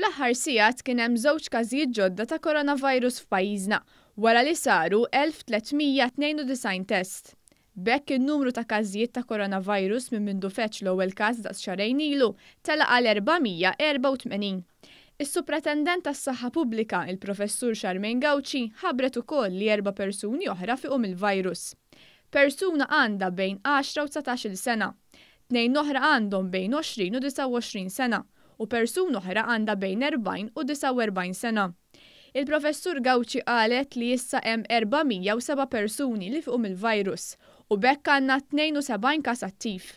Fl-aħħar sigħat kien hemm żewġ każijiet ġodda ta' coronavirus f'pajjiżna wara li saru 1,392 test. B'hekk in-numru ta' każijiet ta' coronavirus minn mindu feġġ l-ewwel każ daqs xahrejn ilu tela' għal 484. Is-Supretendent tas-Saħħa Pubblika, il-Professur Charmaine Gauci, ħabbret ukoll li erba' persuni oħra fiequ mill-virus. Persuna għandha bejn għaxra u 19-il sena. Tnejn oħra għandhom bejn 20 u 29 sena u persuna oħra għandha bejn 40 u 49 sena. Il-Professur Gauci qalet li issa hemm 407 persuni li fiequ mill-virus u b'hekk għandna 72 każ attiv.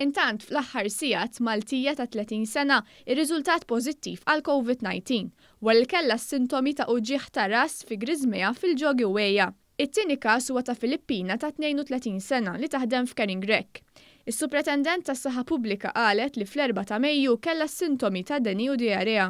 Intant fl-aħħar sigħat Maltija ta' 30 sena irriżultat pożittiv għal Covid-19 wara li kellha s-sintomi ta' uġigħ ta' ras fi griżmejha fil-ġogi u għeja. It-tieni każ huwa ta' Filippina ta' 32 sena li taħdem f'Caring Rec. Is-Supretendent tas-Saħħa Pubblika qalet li fl-4 ta' Mejju kellha s-sintomi ta' deni u dijarea.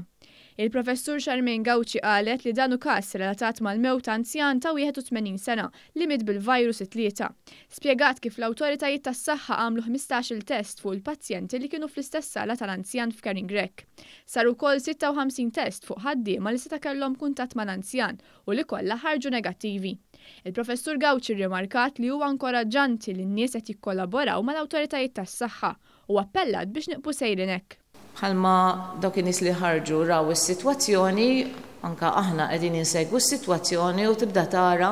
Il-Professur Charmaine Gauci qalet li dan hu każ relatat mal-mewt ta' anzjan ta' 81 sena li miet bil-virus it-Tlieta. Spjegat kif l-awtoritajiet tas-saħħa għamlu 15-il test fuq il-pazjenti li kienu fl-istess sala tal-anzjan f'Caring Rec. Saru wkoll 56 test fuq ħaddiema li seta' kellhom kuntatt mal-anzjan u li kollha ħarġu negattivi. Il-Professur Gauci rrimarkat li huwa inkoraġġanti li n-nies qed jikkollaboraw mal-awtoritajiet tas-saħħa u appellat biex nibqu sejrin hekk. Bħalma dawk in-nies li ħarġu raw is-sitwazzjoni, anke aħna qegħdin insegwu s-sitwazzjoni u tibda tara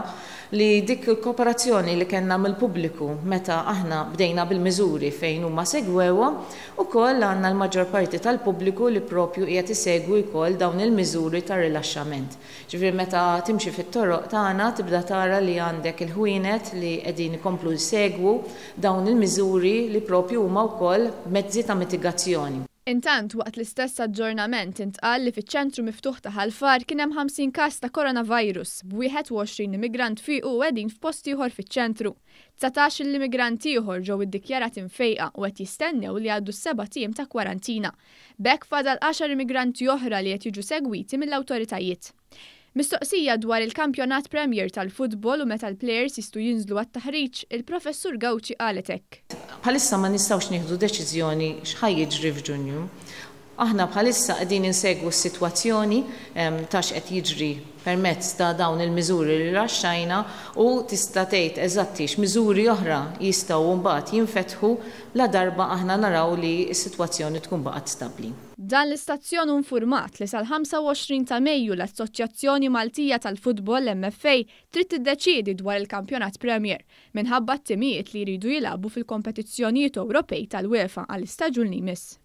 li dik il-kooperazzjoni li kellna mill-pubbliku meta aħna bdejna bil-miżuri fejn huma segwewhom, ukoll għandna l-maġġor parti tal-pubbliku li propju qiegħed isegwi wkoll dawn il-miżuri ta' rilaxxament. Ġifieri meta timxi fit-toroq tagħna tibda tara li għandek il-ħwienet li qegħdin ikomplu jsegwu dawn il-miżuri li propju huma wkoll mezzi ta' mitigazzjoni. Intant, waqt l-istess aġġornament intqal li fiċ-ċentru miftuħ ta' Ħal Far kien hemm 50 każ ta' coronavirus, b'21 immigrant fiequ u qegħdin f'post ieħor fiċ-ċentru. 19-il immigrant ieħor ġew iddikjarati mfejqa u qed jistennew li jgħaddu s-sebat ijiem ta' kwarantina. B'hekk fadal għaxar immigranti oħra li qed jiġu segwiti mill-awtoritajiet. Mistoqsija dwar il-Kampjonat Premier tal-futbol u meta l-plejers jistgħu jinżlu għat-taħriġ, il-Professur Gauci qalet hekk. Bħalissa ma nistgħux nieħdu deċiżjoni x'ħa jiġri f'Ġunju. Aħna bħalissa qegħdin insegwu s-sitwazzjoni ta' x'qed jiġri permezz ta' dawn il-miżuri li rilaxxajna u tista' tgħid eżatti x'miżuri oħra jistgħu mbagħad jinfetħu ladarba aħna naraw li s-sitwazzjoni tkun baqgħet stabbli. Dan l-istazzjon hu nfurmat li sal-25 ta' Mejju l-Assoċjazzjoni Maltija tal-Futbol, MFA, trid tiddeċiedi dwar il-Kampjonat Premier minħabba t-timijiet li jridu jilagħbu fil-kompetizzjonijiet Ewropej tal-UEFA għall-istaġun li jmiss.